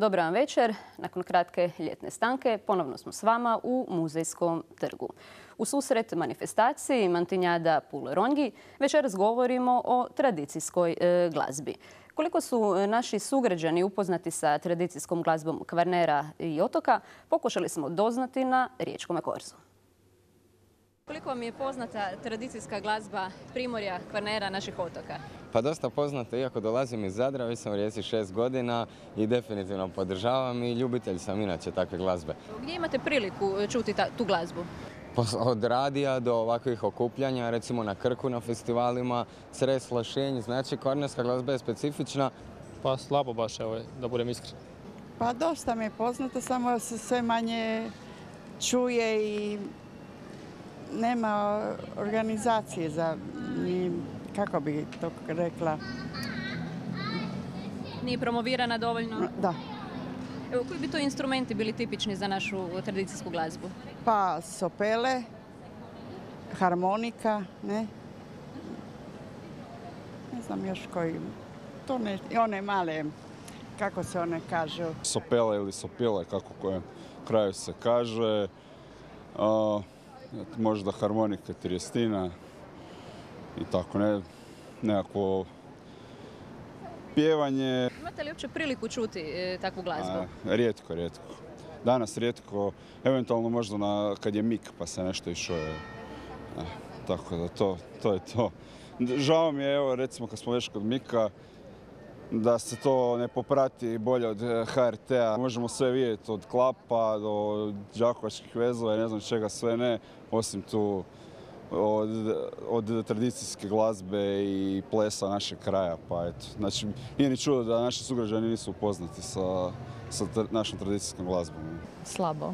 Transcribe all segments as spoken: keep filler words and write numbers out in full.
Dobar vam večer. Nakon kratke ljetne stanke ponovno smo s vama u Muzejskom trgu. U susret manifestaciji Mantinjada Puleronji večeras govorimo o tradicijskoj e, glazbi. Koliko su naši sugrađani upoznati sa tradicijskom glazbom Kvarnera i otoka, pokušali smo doznati na Riječkom korzu. Koliko vam je poznata tradicijska glazba Primorja, Kvarnera, naših otoka? Pa dosta poznata, iako dolazim iz Zadra, već sam u Rijeci šest godina i definitivno podržavam i ljubitelj sam inače takve glazbe. Gdje imate priliku čuti ta, tu glazbu? Od radija do ovakvih okupljanja, recimo na Krku na festivalima, Cres, Lošinj, znači kvarnerska glazba je specifična. Pa slabo baš, evo, da budem iskren. Pa dosta mi je poznato, samo se sve manje čuje i nema organizacije za, kako bi to rekla. Nije promovirana dovoljno? Da. Evo, koji bi to instrumenti bili tipični za našu tradicijsku glazbu? Pa sopele, harmonika, ne? Ne znam još koji. To ne, one male, kako se one kažu? Sopele ili sopile, kako kojem kraju se kaže. A, možda harmonika, trijestina i tako, ne, nekako pjevanje. Imate li uopće priliku čuti e, takvu glazbu? A, rijetko, rijetko. Danas rijetko, eventualno možda na, kad je mik pa se nešto išuje. E, tako da to, to je to. Žao mi je, evo recimo kad smo već kod mika, da se to ne poprati bolje od H R T-a. Možemo sve vidjeti od klapa do đakovačkih vezova i ne znam čega sve ne, osim tu od, od tradicijske glazbe i plesa našeg kraja. Pa eto, znači, nije ni čudo da naši sugrađani nisu upoznati sa, sa našom tradicijskom glazbom. Slabo.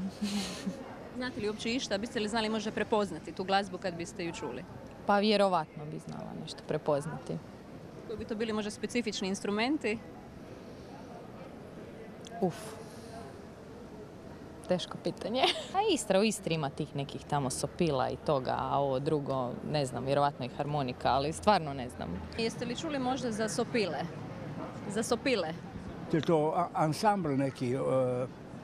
Znate li uopće išta? Biste li znali možda prepoznati tu glazbu kad biste ju čuli? Pa vjerovatno bi znala nešto prepoznati. Koji bi to bili možda specifični instrumenti? Uf. Teško pitanje. A Istra, u Istri ima tih nekih tamo sopila i toga, a ovo drugo, ne znam, vjerovatno i harmonika, ali stvarno ne znam. Jeste li čuli možda za sopile? Za sopile? Je to ansambl neki, uh,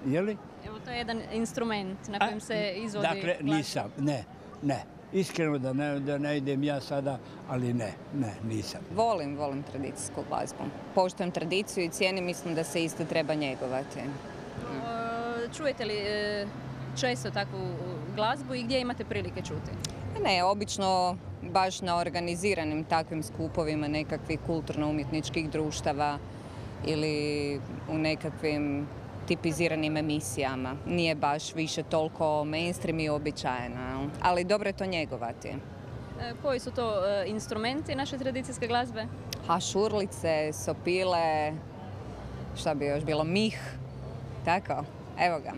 je li? Evo, to je jedan instrument na kojem se izvodi Dakle, glazba. nisam, ne, ne. Iskreno da ne, da ne idem ja sada, ali ne, ne, nisam. Volim, volim tradicijsku glazbu. Poštujem tradiciju i cijenim, mislim da se isto treba njegovati. Čujete li često takvu glazbu i gdje imate prilike čuti? Ne, obično baš na organiziranim takvim skupovima nekakvih kulturno-umjetničkih društava ili u nekakvim tipiziranim emisijama. Nije baš više toliko mainstream i običajno, ali dobro je to njegovati. E, koji su to e, instrumenti naše tradicijske glazbe? Ha, šurlice, sopile, šta bi još bilo, mih, tako, evo ga.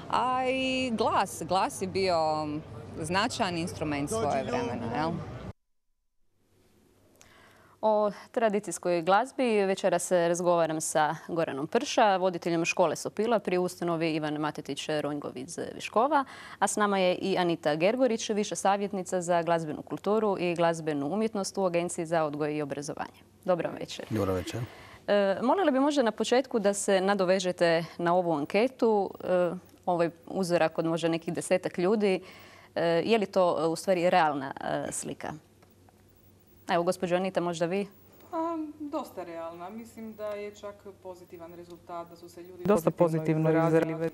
A i glas, glas je bio značajan instrument svoje vremena, jel? O tradicijskoj glazbi večeras razgovaram sa Goranom Prša, voditeljem škole sopila pri ustanovi Ivan Matetić Ronjgov iz Viškova, a s nama je i Anita Gergorić, viša savjetnica za glazbenu kulturu i glazbenu umjetnost u Agenciji za odgoj i obrazovanje. Dobro večer. Dobro večer. E, molila bi možda na početku da se nadovežete na ovu anketu, e, ovaj uzorak od možda nekih desetak ljudi. E, je li to u stvari realna e, slika? Evo, gospođo Anita, možda vi? A, dosta realna. Mislim da je čak pozitivan rezultat, da su se ljudi dosta pozitivno izrazili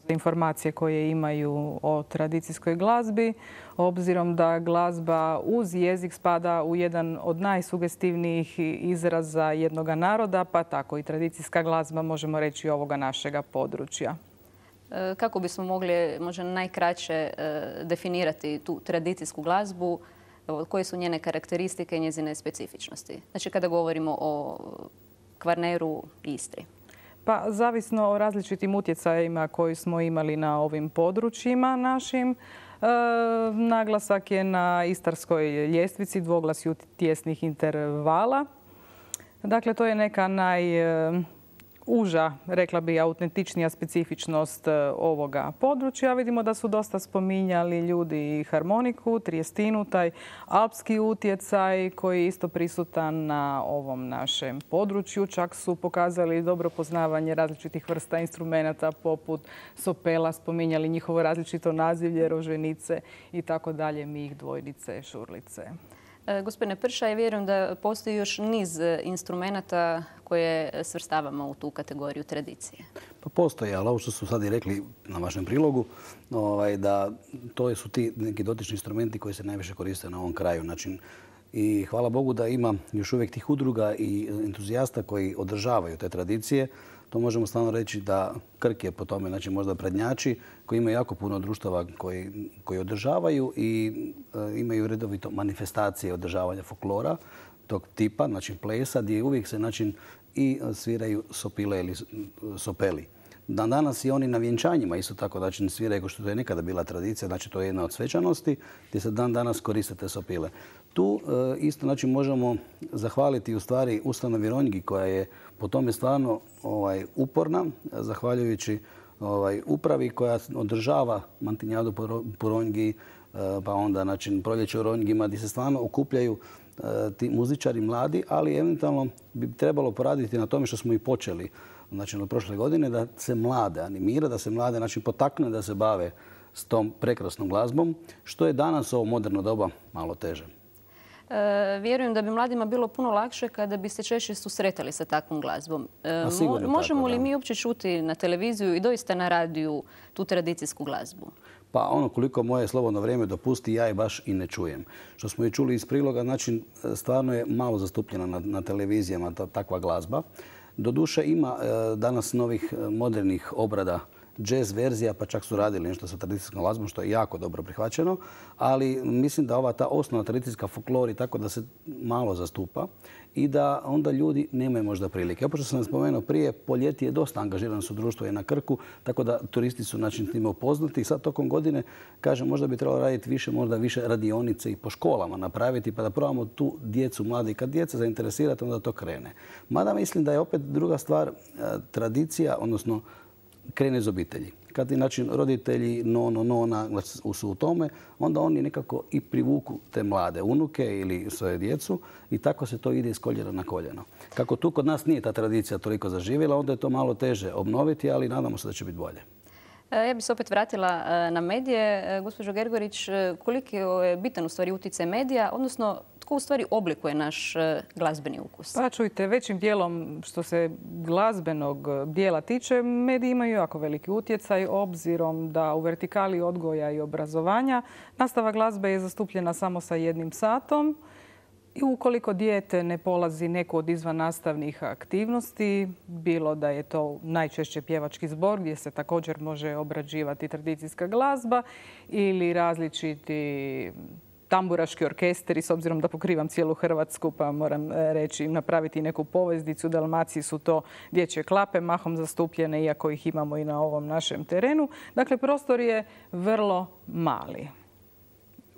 informacije koje imaju o tradicijskoj glazbi, obzirom da glazba uz jezik spada u jedan od najsugestivnijih izraza jednog naroda, pa tako i tradicijska glazba, možemo reći, ovoga našega područja. Kako bismo mogli možda najkraće definirati tu tradicijsku glazbu? Koje su njene karakteristike i njezine specifičnosti? Znači, kada govorimo o Kvarneru i Istri. Pa, zavisno o različitim utjecajima koji smo imali na ovim područjima našim. E, naglasak je na istarskoj ljestvici, dvoglasju tjesnih intervala. Dakle, to je neka naj... uža, rekla bi, autentičnija specifičnost ovoga područja. Vidimo da su dosta spominjali ljudi i harmoniku, trijestinu, taj alpski utjecaj koji je isto prisutan na ovom našem području. Čak su pokazali dobro poznavanje različitih vrsta instrumenata poput sopela, spominjali njihovo različito nazivlje, roženice i tako dalje, mih, dvojnice, šurlice. Gospodine Prša, ja vjerujem da postoji još niz instrumenata koje svrstavamo u tu kategoriju tradicije. Pa postoji, ali ovo što su sad i rekli na vašem prilogu, ovaj, da to su ti neki dotični instrumenti koji se najviše koriste na ovom kraju. Znači, i hvala Bogu da ima još uvijek tih udruga i entuzijasta koji održavaju te tradicije. To možemo stvarno reći da Krk je po tome, znači možda prednjači, koji imaju jako puno društava koji, koji održavaju i e, imaju redovito manifestacije održavanja folklora tog tipa, znači plesa, gdje uvijek se znači, i sviraju sopile ili sopeli. Dan danas i oni na vjenčanjima isto tako znači sviraju kao što to je nekada bila tradicija, znači to je jedna od svečanosti gdje se dan danas koriste te sopile. Tu e, isto znači možemo zahvaliti u stvari ustanovi Ronjgi koja je po tome stvarno ovaj, uporna, zahvaljujući ovaj, upravi koja održava mantinjadu po Ronjgi, e, pa onda znači proljeće u Ronjgima gdje se stvarno okupljaju e, ti muzičari mladi, ali eventualno bi trebalo poraditi na tome što smo i počeli znači od prošle godine, da se mlade animira, da se mlade znači, potakne da se bave s tom prekrasnom glazbom, što je danas ovo moderno doba malo teže. E, vjerujem da bi mladima bilo puno lakše kada bi se češće susretali sa takvom glazbom. E, mo, možemo tako, li da. mi uopće čuti na televiziju i doista na radiju tu tradicijsku glazbu? Pa ono koliko moje slobodno vrijeme dopusti, ja je baš i ne čujem. Što smo i čuli iz priloga, znači stvarno je malo zastupljena na, na televizijama ta, takva glazba. Doduše ima e, danas novih modernih obrada jazz verzija, pa čak su radili nešto sa tradicijskom glazbom, što je jako dobro prihvaćeno. Ali mislim da ova ta osnovna tradicijska folklor i tako da se malo zastupa i da onda ljudi nemaju možda prilike. Opet što sam spomenuo prije, po ljeti je dosta angažirano su društvo i na Krku, tako da turisti su znači time upoznati. I sad tokom godine, kažem, možda bi trebalo raditi više, možda više radionice i po školama napraviti, pa da probamo tu djecu, mladi. Kad djeca zainteresirate, onda to krene. Mada mislim da je opet druga stvar tradicija, odnosno krene iz obitelji. Kad znači, roditelji, nono, nona su u tome, onda oni nekako i privuku te mlade unuke ili svoje djecu i tako se to ide iz koljena na koljeno. Kako tu kod nas nije ta tradicija toliko zaživjela, onda je to malo teže obnoviti, ali nadamo se da će biti bolje. Ja bih se opet vratila na medije. Gospođo Gergorić, koliki je bitan u stvari utjecaj medija, odnosno tko u stvari oblikuje naš glazbeni ukus? Pa čujte, većim dijelom što se glazbenog dijela tiče, mediji imaju jako veliki utjecaj obzirom da u vertikali odgoja i obrazovanja nastava glazbe je zastupljena samo sa jednim satom. I ukoliko dijete ne polazi neku od izvan nastavnih aktivnosti, bilo da je to najčešće pjevački zbor gdje se također može obrađivati tradicijska glazba ili različiti tamburaški orkestri, s obzirom da pokrivam cijelu Hrvatsku, pa moram reći napraviti neku poveznicu. U Dalmaciji su to dječje klape, mahom zastupljene, iako ih imamo i na ovom našem terenu. Dakle, prostor je vrlo mali.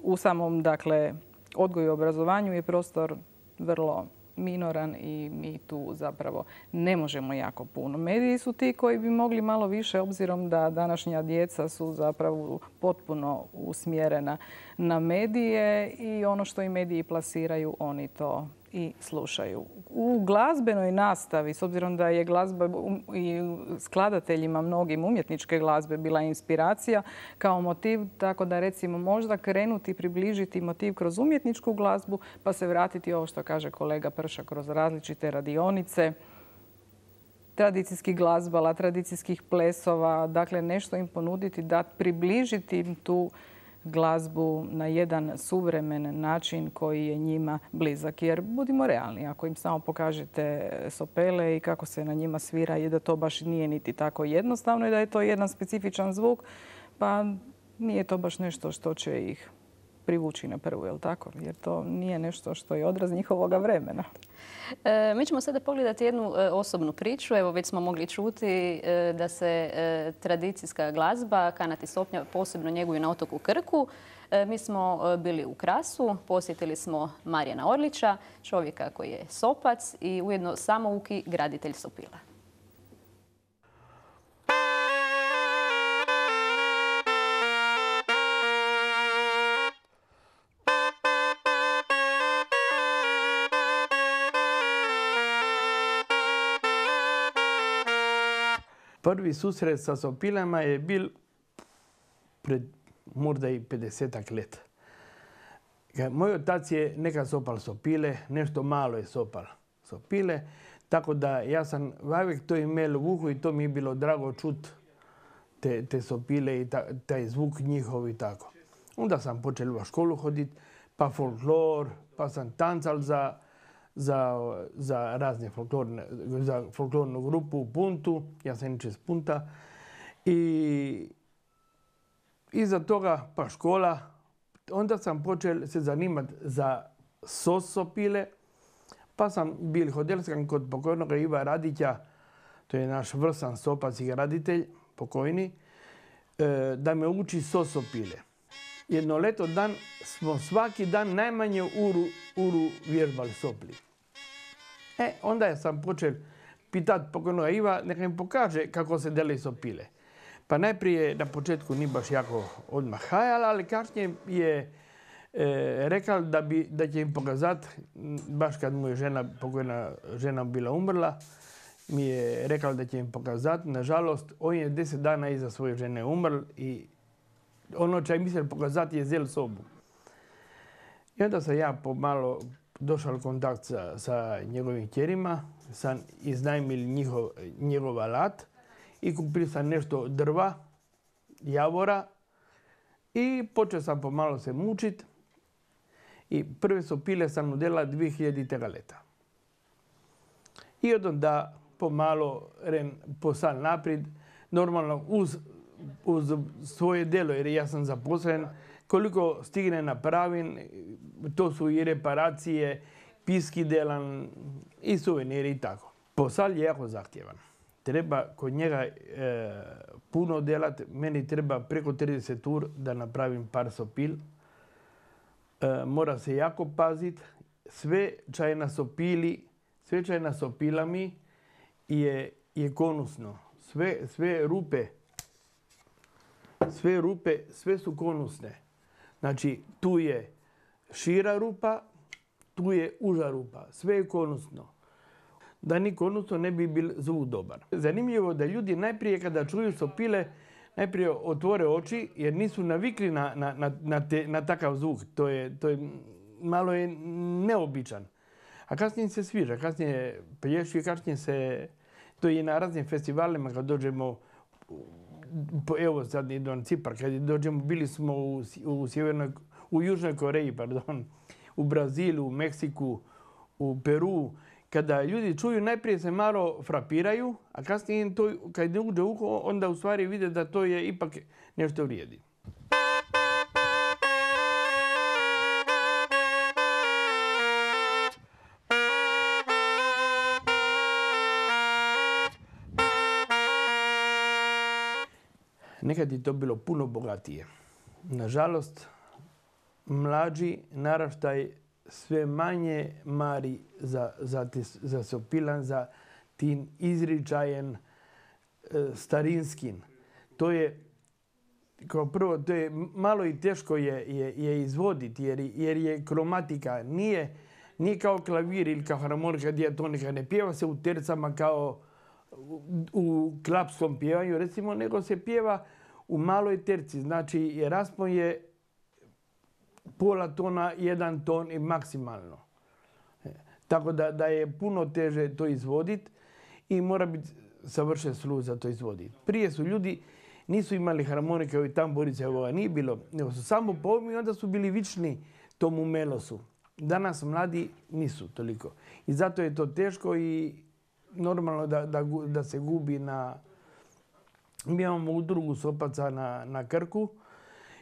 U samom, dakle, odgoju i obrazovanju je prostor vrlo minoran i mi tu zapravo ne možemo jako puno. Mediji su ti koji bi mogli malo više, obzirom da današnja djeca su zapravo potpuno usmjerena na medije i ono što i mediji plasiraju, oni to i slušaju. U glazbenoj nastavi, s obzirom da je glazba i skladateljima mnogim umjetničke glazbe bila inspiracija kao motiv, tako da recimo možda krenuti približiti motiv kroz umjetničku glazbu pa se vratiti ovo što kaže kolega Prša kroz različite radionice, tradicijskih glazbala, tradicijskih plesova, dakle nešto im ponuditi da približiti im tu glazbu na jedan suvremen način koji je njima blizak. Jer budimo realni, ako im samo pokažete sopele i kako se na njima svira i da to baš nije niti tako jednostavno i da je to jedan specifičan zvuk, pa nije to baš nešto što će ih privući na prvu, jel tako? Jer to nije nešto što je odraz njihovoga vremena. E, mi ćemo sada pogledati jednu e, osobnu priču. Evo, već smo mogli čuti e, da se e, tradicijska glazba, kanat i sopnja posebno njeguju na otoku Krku. E, mi smo e, bili u Krasu, posjetili smo Marijana Orlića, čovjeka koji je sopac i ujedno samouki graditelj sopila. Prvi susret sa sopilama je bil pred možda i pedesetak let. Moj otac je nekad sopal sopile, nešto malo je sopal sopile, tako da ja sam uvijek to imel u uhu i to mi je bilo drago čut te, te sopile i ta, taj zvuk njihov i tako. Onda sam počel u školu hodit, pa folklor, pa sam tancal za, za, za razne folklorne, za folklornu grupu u Puntu, ja sam inače iz Punta. I iza toga pa škola, onda sam počel se zanimati za sos sopile, pa sam bil hodelskan kod pokojnog Iva Radića, to je naš vrsan sopac i raditelj, pokojni, da me uči sos sopile. Jedno leto dan smo svaki dan najmanje uru, uru vježbali sopli. E, onda sam počel pitati pokojnog Iva neka mi pokaže kako se dele sopile. Pa najprije na početku nije baš jako odmah hajal, ali kasnije je e, rekao da, bi, da će im pokazati, baš kad mu je žena, pokojna žena bila umrla, mi je rekao da će im pokazati. Nažalost, on je deset dana iza svoje žene umrl i ono čo je mislio pokazati je zel sobu. I onda sam ja pomalo došao u kontakt sa, sa njegovim kćerima, sam iznajmil njihov, njegov alat i kupio sam nešto drva, javora i počeo sam pomalo se mučit. I prve sopile sam udjela dvije hiljaditog leta. I od onda pomalo ren posal naprijed, normalno uz, uz svoje delo, jer ja sam zaposlen, koliko stigne napravim, to su i reparacije, piski delan i suveniri i tako. Posal je jako zahtjevan. Treba kod njega e, puno delat, meni treba preko trideset ur da napravim par sopil. E, mora se jako pazit. Sve čaj na sopili, sve čaj na sopilami je, je konusno. Sve, sve rupe, sve rupe, sve su konusne. Znači, tu je šira rupa, tu je uža rupa. Sve je konusno. Da ni konusno ne bi bil zvuk dobar. Zanimljivo da ljudi najprije kada čuju sopile, najprije otvore oči jer nisu navikli na, na, na, na, te, na takav zvuk. To je, to je malo je neobičan. A kasnije se sviđa, kasnije plješi, kasnije se... To je na raznim festivalima kad dođemo, evo sad idu na Cipar, kad dođemo, bili smo u, u, sjevernoj, u Južnoj Koreji, pardon, u Brazilu, u Meksiku, u Peru. Kada ljudi čuju, najprije se malo frapiraju, a kasnije to, kad ne uđe u uho, onda u stvari vide da to je ipak nešto vrijedi. Nekad je to bilo puno bogatije. Nažalost, mlađi naraštaj sve manje mari za, za, za sopilan, za tim izričajen e, starinskin. To je, kao prvo, to je malo i teško je, je, je izvoditi jer, jer je kromatika. Nije, nije kao klavir ili kao harmonika, dijatonika. Ne pjeva se u tercama kao u, u klapskom pjevanju, recimo, nego se pjeva u maloj terci. Znači, raspon je pola tona, jedan ton i maksimalno. Tako da, da je puno teže to izvoditi i mora biti savršen sluh za to izvoditi. Prije su ljudi, nisu imali harmonike i tamburice, ovoga nije bilo, nego su samo povmi i onda su bili vični tomu melosu. Danas mladi nisu toliko. I zato je to teško i normalno da, da, da se gubi na... Mi imamo udrugu sopaca na, na Krku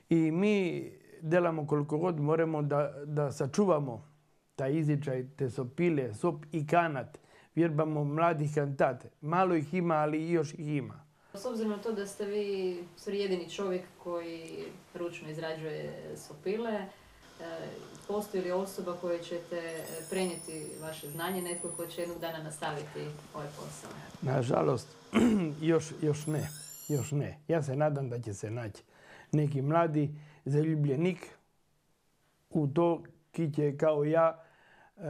i mi delamo koliko god moramo da, da sačuvamo taj izričaj, te sopile, sop i kanat. Vjerbamo mladih kantate. Malo ih ima, ali još ih ima. S obzirom na to da ste vi jedini čovjek koji ručno izrađuje sopile, postoji li osoba koja ćete prenijeti vaše znanje, netko ko će jednog dana nastaviti ovaj posao? Nažalost, još, još ne. Još ne. Ja se nadam da će se naći neki mladi zaljubljenik u to ki će kao ja e,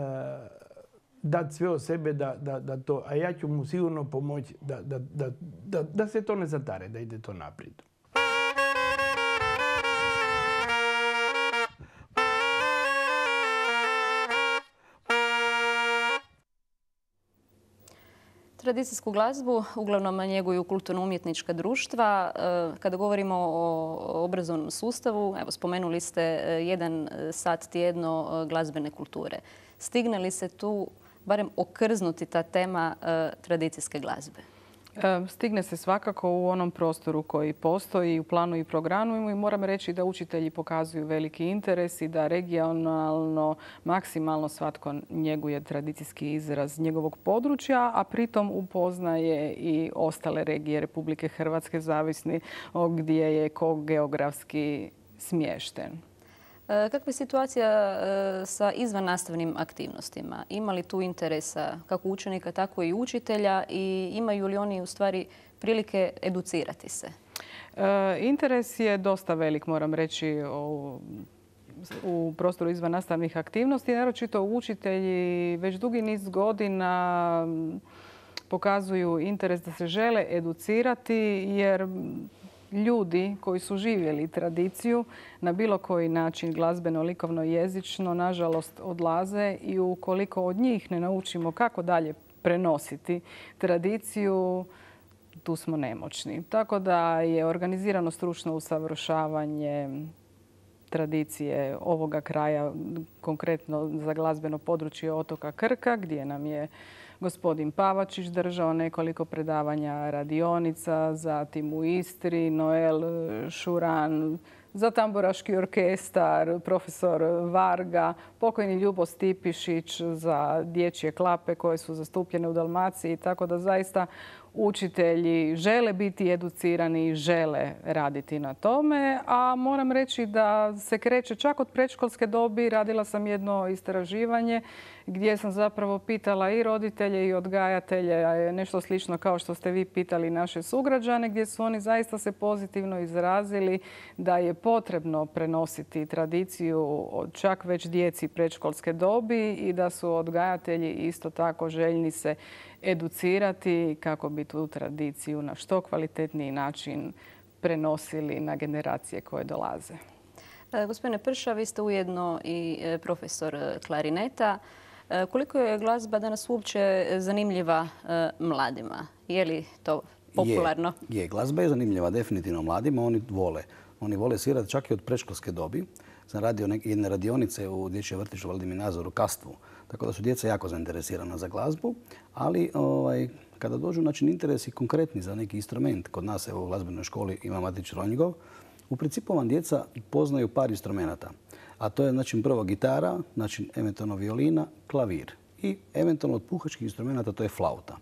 dati sve od sebe da, da, da to, a ja ću mu sigurno pomoći da, da, da, da, da se to ne zatare, da ide to naprijed. Tradicijsku glazbu uglavnom njeguju kulturno-umjetnička društva. Kada govorimo o obrazovnom sustavu, evo, spomenuli ste jedan sat tjedno glazbene kulture. Stigne li se tu barem okrznuti ta tema tradicijske glazbe? Stigne se svakako u onom prostoru koji postoji u planu i programu i moram reći da učitelji pokazuju veliki interes i da regionalno, maksimalno svatko njeguje tradicijski izraz njegovog područja, a pritom upoznaje i ostale regije Republike Hrvatske, zavisni gdje je ko geografski smješten. Kakva je situacija sa izvannastavnim aktivnostima? Ima li tu interesa kako učenika, tako i učitelja i imaju li oni u stvari prilike educirati se? Interes je dosta velik, moram reći, u prostoru izvannastavnih aktivnosti. Naročito učitelji već dugi niz godina pokazuju interes da se žele educirati jer ljudi koji su živjeli tradiciju na bilo koji način glazbeno, likovno, jezično, nažalost odlaze i ukoliko od njih ne naučimo kako dalje prenositi tradiciju, tu smo nemoćni. Tako da je organizirano stručno usavršavanje tradicije ovoga kraja, konkretno za glazbeno područje otoka Krka, gdje nam je gospodin Pavačić držao nekoliko predavanja, radionica, zatim u Istri, Noel Šuran, za tamburaški orkestar, profesor Varga, pokojni Ljubo Stipišić za dječje klape koje su zastupljene u Dalmaciji. Tako da zaista učitelji žele biti educirani i žele raditi na tome. A moram reći da se kreće čak od predškolske dobi. Radila sam jedno istraživanje gdje sam zapravo pitala i roditelje i odgajatelje, nešto slično kao što ste vi pitali naše sugrađane, gdje su oni zaista se pozitivno izrazili da je potrebno prenositi tradiciju od čak već djeci predškolske dobi i da su odgajatelji isto tako željni se educirati kako bi tu tradiciju na što kvalitetniji način prenosili na generacije koje dolaze. Gospodine Prša, vi ste ujedno i profesor klarineta. Koliko je glazba danas uopće zanimljiva mladima? Je li to popularno? Je, je. Glazba je zanimljiva definitivno mladima. Oni vole. Oni vole svirati čak i od predškolske dobi. Sam radio jedne radionice u dječjem vrtiću Vladimir Nazor u Kastvu. Tako da su djeca jako zainteresirana za glazbu. Ali ovaj, kada dođu znači, interesi konkretni za neki instrument, kod nas evo, u glazbenoj školi ima Matić Ronjgov, u principu vam djeca poznaju par instrumenata. A to je znači, prvo gitara, znači eventualno violina, klavir i eventualno od puhačkih instrumenata to je flauta.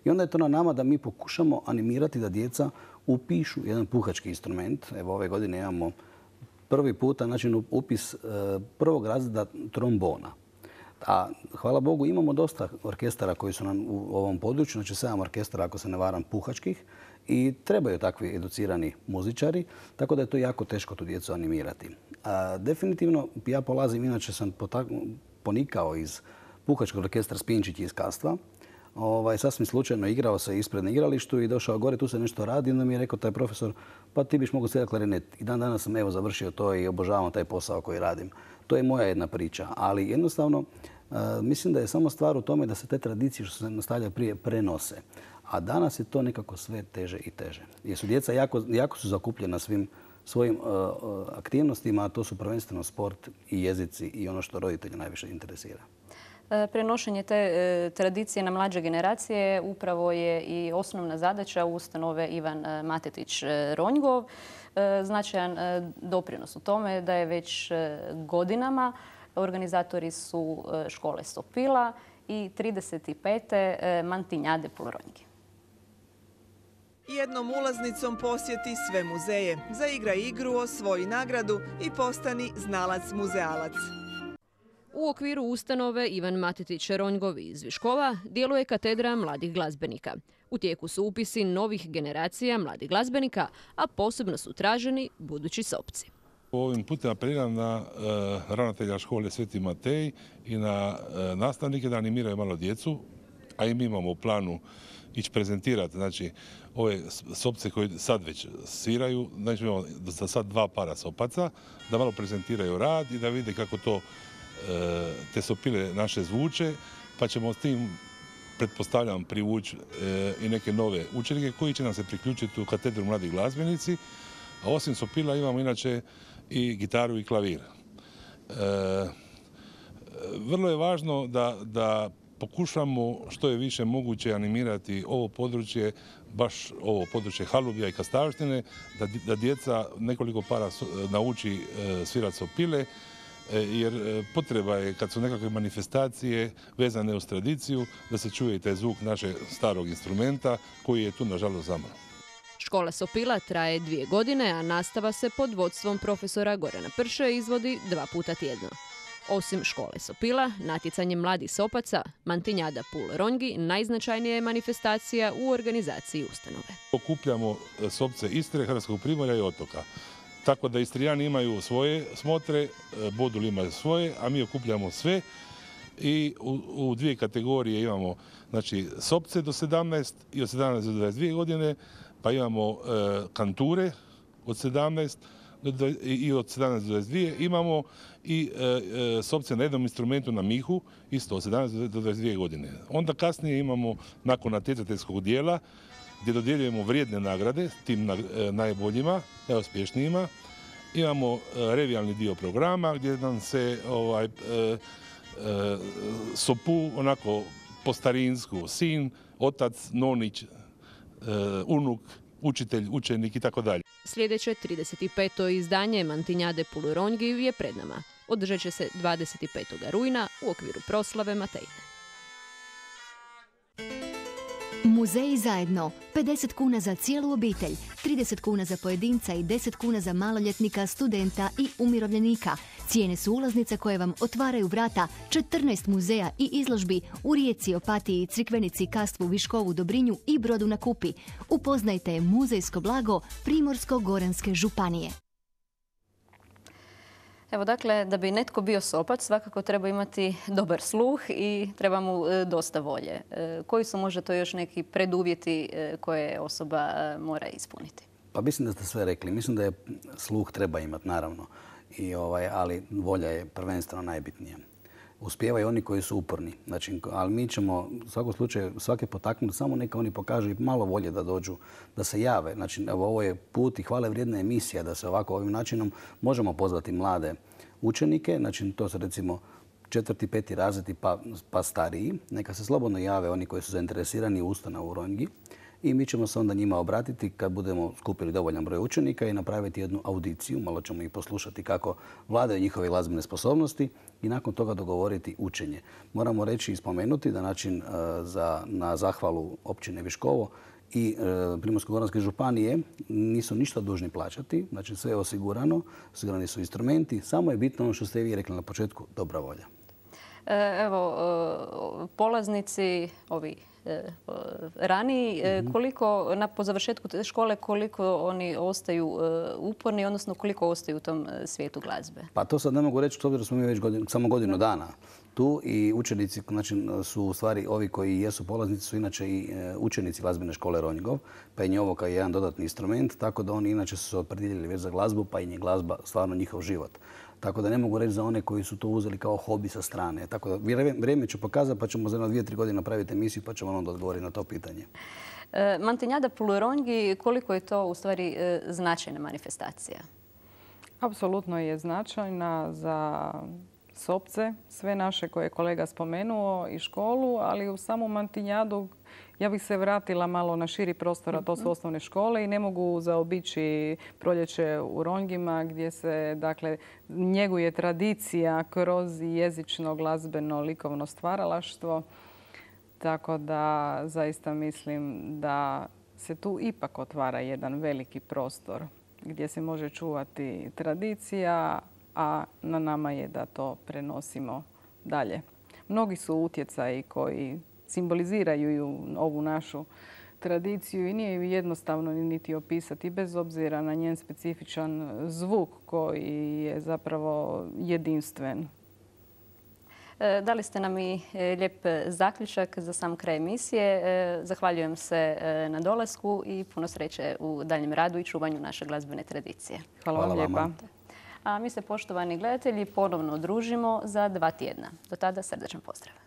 I onda je to na nama da mi pokušamo animirati da djeca upišu jedan puhački instrument. Evo ove godine imamo prvi puta znači, upis prvog razreda trombona. A hvala Bogu imamo dosta orkestara koji su nam u ovom području, znači sedam orkestara ako se ne varam puhačkih i trebaju takvi educirani muzičari, tako da je to jako teško tu djecu animirati. A, definitivno ja polazim, inače sam ponikao iz puhačkog orkestra Spinčić iz Kastva. Ovaj, sasvim slučajno igrao se ispred na igralištu i došao gore, tu se nešto radi. Onda mi je rekao taj profesor, pa ti biš mogao svirati klarinet. I dan danas sam evo završio to i obožavam taj posao koji radim. To je moja jedna priča, ali jednostavno uh, mislim da je samo stvar u tome da se te tradicije što se nastavlja prije prenose. A danas je to nekako sve teže i teže. Jer su djeca jako, jako su zakupljena svim svojim uh, aktivnostima, a to su prvenstveno sport i jezici i ono što roditelje najviše interesira. Prenošenje te tradicije na mlađe generacije upravo je i osnovna zadaća ustanove Ivan Matetić Ronjgov. Značajan doprinos u tome da je već godinama organizatori su škole Sopila i trideset pete Mantinjade Pulronjgi. Jednom ulaznicom posjeti sve muzeje, zaigra igru, osvoji nagradu i postani znalac muzealac. U okviru ustanove Ivan Matetić Ronjgov iz Viškova djeluje katedra mladih glazbenika. U tijeku su upisi novih generacija mladih glazbenika, a posebno su traženi budući sopci. Ovim putem apeliram na ravnatelja škole Sveti Matej i na nastavnike da animiraju malo djecu, a i mi imamo u planu ići prezentirati, znači, ove sopce koje sad već sviraju, znači imamo za sad dva para sopaca, da malo prezentiraju rad i da vide kako to te sopile naše zvuče, pa ćemo s tim, pretpostavljam, privući i neke nove učenike koji će nam se priključiti u katedru Mladi glazbenici, a osim sopila imamo inače i gitaru i klavir. Vrlo je važno da, da pokušamo što je više moguće animirati ovo područje, baš ovo područje Halubja i Kastavštine, da, da djeca nekoliko para nauči svirati sopile, jer potreba je kad su nekakve manifestacije vezane uz tradiciju da se čuje i taj zvuk našeg starog instrumenta koji je tu nažalost zamro. Škola sopila traje dvije godine, a nastava se pod vodstvom profesora Gorana Prše izvodi dva puta tjedno. Osim škole sopila, natjecanje mladih sopaca, Mantinjada Pul-Ronjgi najznačajnija je manifestacija u organizaciji ustanove. Okupljamo sopce Istre, Hrvatskog primorja i otoka. Tako da Istrijani imaju svoje smotre, Bodul ima svoje, a mi okupljamo sve i u, u dvije kategorije imamo, znači, sopce do sedamnaest i od sedamnaest do dvadeset dvije godine, pa imamo e, kanture od sedamnaest do, i od sedamnaest do dvadeset dvije, imamo i e, e, sopce na jednom instrumentu na mihu, isto od sedamnaest do dvadeset dvije godine. Onda kasnije imamo, nakon natjecateljskog dijela, gdje dodjeljujemo vrijedne nagrade tim e, najboljima, najuspješnijima. Imamo e, revijalni dio programa gdje nam se ovaj, e, e, sopu onako po starinsku, sin, otac, nonić, e, unuk, učitelj, učenik i tako dalje. Sljedeće trideset peto izdanje Mantinjade Pul-Ronjgi je pred nama. Održat će se dvadeset petog rujna u okviru proslave Matejne. Muzeji zajedno. pedeset kuna za cijelu obitelj, trideset kuna za pojedinca i deset kuna za maloljetnika, studenta i umirovljenika. Cijene su ulaznice koje vam otvaraju vrata četrnaest muzeja i izložbi u Rijeci, Opatiji, Crikvenici, Kastvu, Viškovu, Dobrinju i Brodu na Kupi. Upoznajte muzejsko blago Primorsko-goranske županije. Evo, dakle, da bi netko bio sopac, svakako treba imati dobar sluh i treba mu e, dosta volje. E, koji su možda to još neki preduvjeti e, koje osoba e, mora ispuniti? Pa mislim da ste sve rekli. Mislim da je sluh treba imati, naravno. I, ovaj, ali volja je prvenstveno najbitnija. Uspijevaju oni koji su uporni. Znači, ali mi ćemo u svakom slučaju svake potaknuti, samo neka oni pokažu i malo volje da dođu, da se jave. Znači, evo, ovo je put i hvale vrijedna emisija da se ovako ovim načinom možemo pozvati mlade učenike. Znači, to su recimo četvrti, peti razredi pa, pa stariji. Neka se slobodno jave oni koji su zainteresirani u ustanovu u Ronjgi. I mi ćemo se onda njima obratiti kad budemo skupili dovoljan broj učenika i napraviti jednu audiciju. Malo ćemo ih poslušati kako vladaju njihove glazbene sposobnosti i nakon toga dogovoriti učenje. Moramo reći i spomenuti da način za, na zahvalu općine Viškovo i Primorsko-goranske županije nisu ništa dužni plaćati. Znači sve je osigurano, osigurani su instrumenti. Samo je bitno ono što ste vi rekli na početku, dobra volja. Evo, polaznici, ovi raniji, koliko na, po završetku te škole, koliko oni ostaju uporni, odnosno koliko ostaju u tom svijetu glazbe? Pa to sad ne mogu reći, s obzirom da smo mi već godin, samo godinu dana tu i učenici, znači, su u stvari ovi koji jesu polaznici su inače i učenici glazbene škole Ronjgov, pa je njovo kao jedan dodatni instrument, tako da oni inače su se opredijelili već za glazbu, pa i je glazba stvarno njihov život. Tako da ne mogu reći za one koji su to uzeli kao hobi sa strane. Tako da vrijeme ću pokazati pa ćemo za jedno dvije, tri godine napraviti emisiju pa ćemo onda odgovoriti na to pitanje. E, Mantinjada Pul-Ronjgi, koliko je to u stvari e, značajna manifestacija? Apsolutno je značajna za sopce, sve naše koje je kolega spomenuo i školu, ali u samu Mantinjadu ja bih se vratila malo na širi prostor, a to su osnovne škole i ne mogu zaobići proljeće u Ronjgima gdje se, dakle, njeguje tradicija kroz jezično, glazbeno, likovno stvaralaštvo. Tako da zaista mislim da se tu ipak otvara jedan veliki prostor gdje se može čuvati tradicija, a na nama je da to prenosimo dalje. Mnogi su utjecaji koji simboliziraju ovu našu tradiciju i nije ju jednostavno niti opisati, bez obzira na njen specifičan zvuk koji je zapravo jedinstven. Dali ste nam i lijep zaključak za sam kraj emisije. Zahvaljujem se na dolasku i puno sreće u daljem radu i čuvanju naše glazbene tradicije. Hvala vam lijepa. A mi se, poštovani gledatelji, ponovno družimo za dva tjedna. Do tada srdečan pozdrav.